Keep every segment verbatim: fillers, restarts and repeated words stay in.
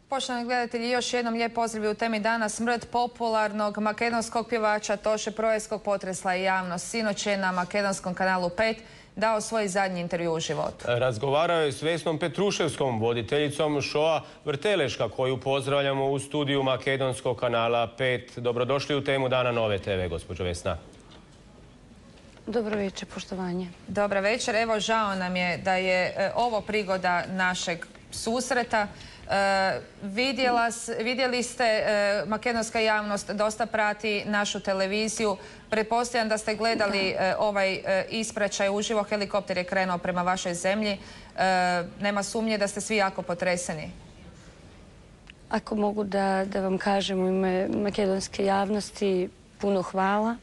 Poštovani gledatelji, još jednom lijep pozdrav u temi dana. Smrt popularnog makedonskog pjevača Toše Proejskog potresla je javnost. Sinoć je na makedonskom kanalu pet dao svoj zadnji intervju u životu. Razgovarao je s Vesnom Petruševskom, voditeljicom šoa Vrteleška, koju pozdravljamo u studiju makedonskog kanala pet. Dobrodošli u temu dana Nove te ve, gospođo Vesna. Dobro večer, poštovanje. Dobra večer. Evo, žao nam je da je ovo prigoda našeg susreta. Vidjeli ste, makedonska javnost dosta prati našu televiziju. Pretpostavljam da ste gledali ovaj ispraćaj uživo. Helikopter je krenuo prema vašoj zemlji. Nema sumnje da ste svi jako potreseni. Ako mogu da vam kažem u ime makedonske javnosti, puno hvala.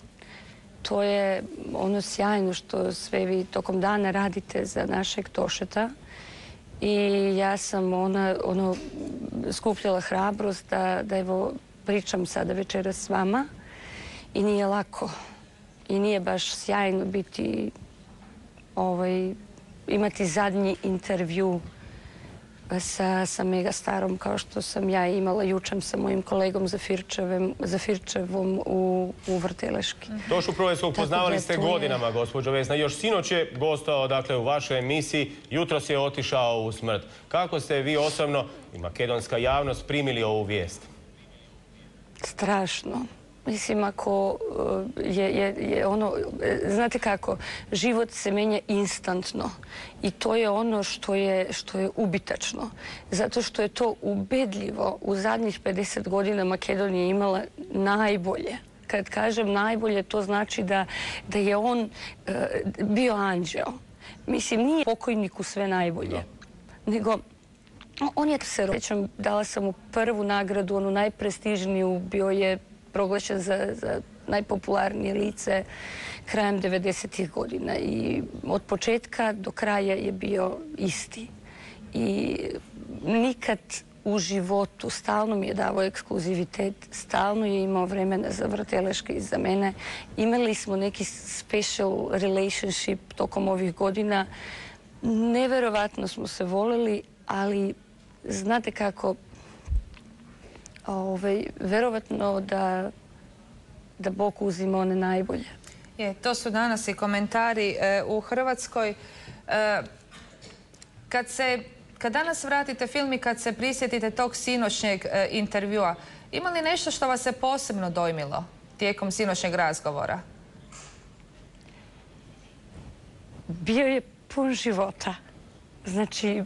To je ono sjajno što sve vi tokom dana radite za našeg Tošeta. I ja sam ono skupljala hrabrost da evo pričam sada večeras s vama i nije lako i nije baš sjajno biti imati zadnji intervju sa megastarom kao što sam ja imala jučer sa mojim kolegom Zafirčevom u Vrteleški. Tošu Proejskog poznavali ste godinama, gospođo Vesna. Još sinoć je gostao u vašoj emisiji, jutros je otišao u smrt. Kako ste vi osobno i makedonska javnost primili ovu vijest? Strašno. Mislim, ako je ono, znate kako, život se menja instantno i to je ono što je ubitačno. Zato što je to ubedljivo. U zadnjih pedeset godina Makedonija imala najbolje. Kad kažem najbolje, to znači da je on bio anđeo. Mislim, nije pokojniku sve najbolje, nego on je se rođen. Dala sam mu prvu nagradu, onu najprestižniju, bio je proglašen za najpopularnije lice krajem devedesetih godina i od početka do kraja je bio isti. I nikad u životu, stalno mi je davao ekskluzivitet, stalno je imao vremena za Vrteleške i za mene. Imali smo neki special relationship tokom ovih godina. Neverovatno smo se voleli, ali znate kako, verovatno da Bog uzima one najbolje. To su danas i komentari u Hrvatskoj. Kad danas vratite film i kad se prisjetite tog sinoćnjeg intervjua, ima li nešto što vas je posebno dojmilo tijekom sinoćnjeg razgovora? Bio je pun života. Znači,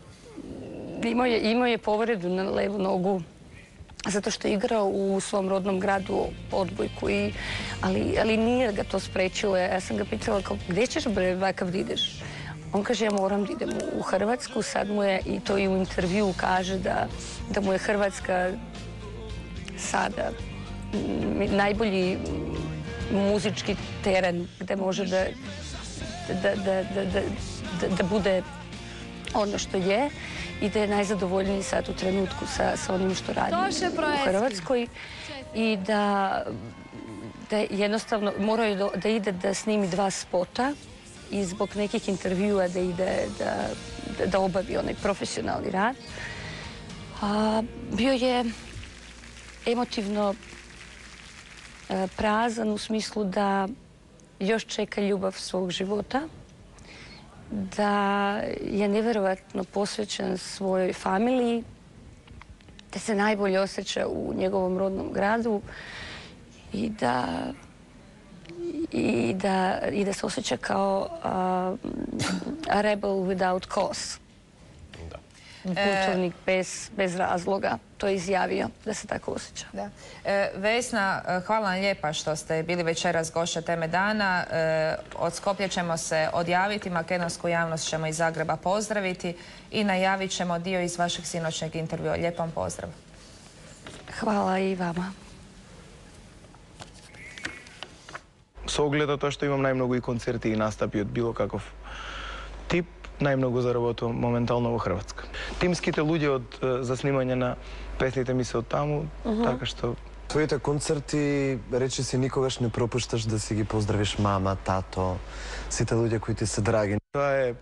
imao je povredu na levu nogu zato što je igrao u svom rodnom gradu odbojku, ali nije ga to sprečilo. Ja sam ga pitala, gdje ćeš bre, vakav da ideš? On kaže, ja moram da idem u Hrvatsku, sad mu je, i to i u intervju kaže da mu je Hrvatska sada najbolji muzički teren gde može da bude ono što je i da je najzadovoljniji sad u trenutku sa onim što radi u Hrvatskoj i da jednostavno morao da ide da snimi dva spota i zbog nekih intervjua da ide da obavi onaj profesionalni rad. Bio je emotivno prazan u smislu da još čeka ljubav svog života, da je neverovatno posvećen svojoj familiji, da se najbolje osjeća u njegovom rodnom gradu i da i da se osjeća kao a rebel without cause. Kulturnik bez razloga. To je izjavio da se tako osjeća. Vesna, hvala vam lijepa što ste bili večeras gošća teme dana. Od Skoplja ćemo se odjaviti, makedonsku javnost ćemo iz Zagreba pozdraviti i najavit ćemo dio iz vašeg sinoćnjeg intervjua. Lijep vam pozdrav. Hvala i vama. Со оглед на тоа што имам најмногу и концерти и настапи од било каков тип, најмногу заработувам моментално во Хрватска. Тимските луѓе за снимање на песните ми се од таму, така што Твоите концерти, речи си, никогаш не пропушташ да си ги поздравиш мама, тато, сите луѓе кои ти се драги. Тоа е е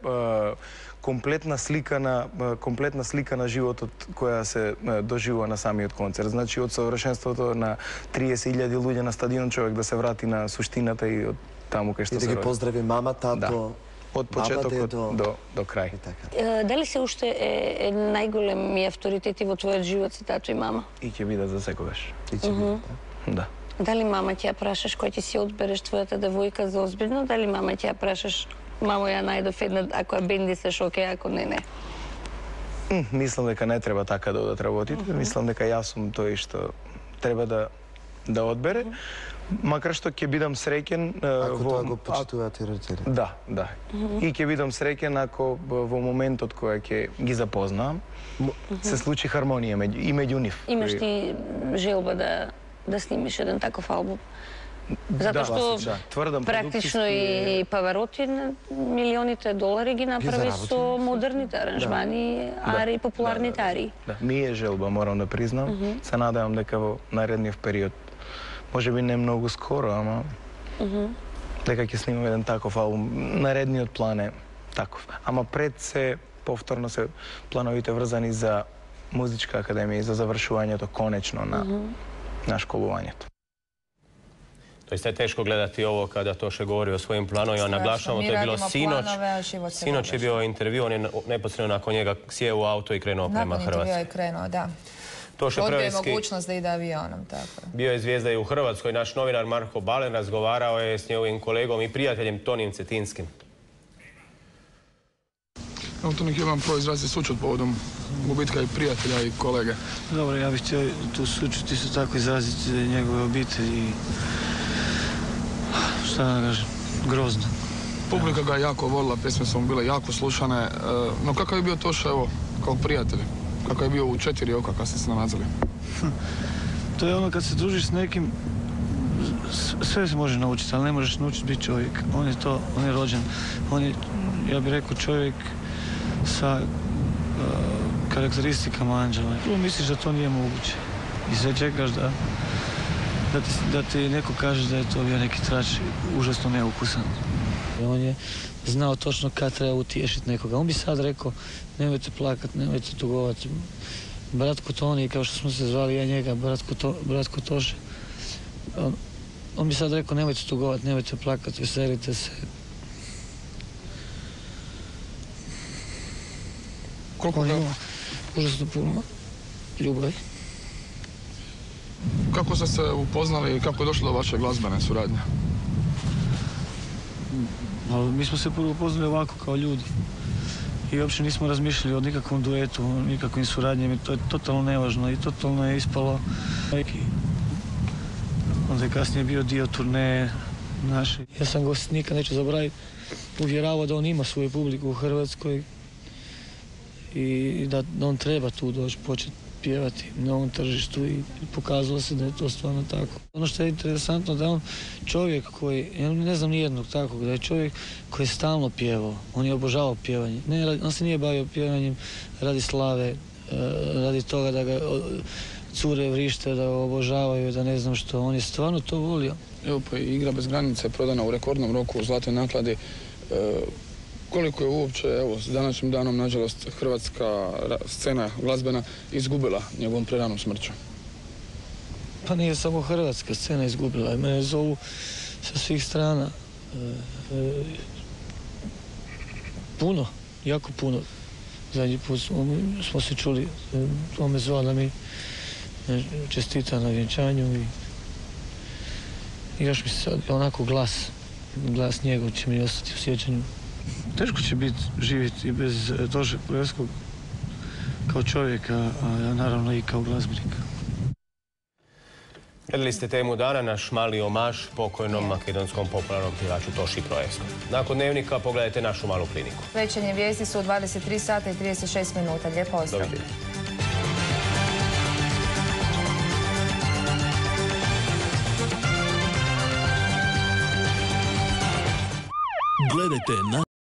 комплетна слика на е, комплетна слика на животот која се е, доживува на самиот концерт. Значи од совршенството на триесет илјади луѓе на стадион, човек да се врати на суштината и од таму кај што И се да ги роди. поздрави мама, тато, Да. Од почетокот дедо. до до крај. и така. Е, Дали се уште е, е најголеми авторитети во твојот живот се тато и мама? И ќе бидат за секогаш. И ќе биде, да. Да. Дали мама ќе ја прашаш кој ќе си одбереш твојата девојка за озбилно? Дали мама ќе ја прашаш мамо ја најдов една, ако ја бендисеш, окей, ако не, не? М, Мислам дека не треба така да одат работите. Мислам дека јас сум тој што треба да да одбере. Макар што ќе бидам среќен е, Ако во тоа го почитуваат и родители. Да, да. И ќе бидам среќен ако б- во моментот кој ќе ги запознам, се случи хармонија меѓу и меѓу нив. Имаш Кој- ти желба да да снимиш еден таков албум? Затоа Да, што да, тврдам практично продукцијски- и Павароти на милионите долари ги направи заработи. со модерните аранжмани, ари и популарните да, да, ари. Да, ми е желба, морам да признам. Се надевам дека во наредниот период, може би не многу скоро, ама дека ќе снимам еден таков албум. Наредниот план е таков. Ама пред се повторно се плановите врзани за музичка академија и за завршувањето конечно на на школувањето. Doista je teško gledati ovo kada Toše govori o svojim planovima. Strašno. Naglašavamo, Mi to je bilo radimo sinoć. planove, a život se Sinoć je događa. bio intervju, on je neposredno nakon njega sjeo u auto i krenuo prema Nakon intervjua Hrvatskoj. je krenuo, da. Toše Odbio je Preveski mogućnost da ide avionom, tako. bio je zvijezda i u Hrvatskoj. Naš novinar Marko Balen razgovarao je s njegovim kolegom i prijateljem Tonim Cetinskim. Evo to nek imam prvo izraziti sućut povodom gubitka i prijatelja i kolege. Dobro, ja bih htio tu sućut isto tako izraziti njegove obitelji i šta da kažem, grozno. Publika ga je jako volila, pjesme su mu bile jako slušane. e, No kakav je bio Toša, evo, kao prijatelj? Kakav je bio u četiri oka kad ste se nalazili? To je ono kad se družiš s nekim, s- sve se može naučiti, ali ne možeš naučiti biti čovjek. On je to, on je rođen. On je, ja bih rekao, čovjek sa uh, karakteristikama anđela. Prvo misliš da to nije moguće. I sve čekaš da, da, ti, da ti neko kaže da je to bio neki trač užasno neukusan. I on je znao točno kad treba utješiti nekoga. On bi sad rekao, nemojte plakat, nemojte tugovati. Bratko Toni, kao što smo se zvali ja njega, bratko, to, bratko Toše. On, on bi sad rekao, nemojte tugovati, nemojte plakati, veselite se. Koliko, On ga, ima užasno puno ljubavi. kako ste se upoznali i kako je došlo do vaše glazbene suradnje? Ali mi smo se prvo upoznali ovako kao ljudi. I uopće nismo razmišljali o nikakvom duetu, o nikakvim suradnjama. To je totalno nevažno i totalno je ispalo. I onda je kasnije bio dio turneje naše. Ja sam ga nikad neću zaboraviti, uvjeravao da on ima svoju publiku u Hrvatskoj i da on treba tu doći početi pjevati na ovom tržištu i pokazalo se da je to stvarno tako. Ono što je interesantno da je on čovjek koji, ja ne znam nijednog takvog, da je čovjek koji je stalno pjevao, on je obožavao pjevanje. Ne, on se nije bavio pjevanjem radi slave, radi toga da ga cure vrište, da ga obožavaju, da ne znam što, on je stvarno to volio. Evo pa i Igra bez granice prodana u rekordnom roku u zlatoj nakladi. E, koliko je uopće, evo, s današnjim danom, nažalost, hrvatska ra- scena glazbena izgubila njegovom preranom smrću? Pa nije samo hrvatska scena izgubila, mene zovu sa svih strana. E, e, puno, jako puno. Zadnji put smo, smo se čuli, e, on me zvao da mi e, čestita na vjenčanju i, i još mi se sad onako glas, glas njegov će mi ostati u sjećanju. Teško će biti živjeti bez e, Toše Preveskog kao čovjeka, a naravno i kao glazbenika. Gledali ste temu dana, naš mali omaž pokojnom makedonskom popularnom pjevaču Toši Proevskom. Nakon dnevnika pogledajte našu malu kliniku. Večernje vijesti su u dvadeset tri sata i trideset šest minuta. Lijep pozdrav. Doviđenja. Gledajte na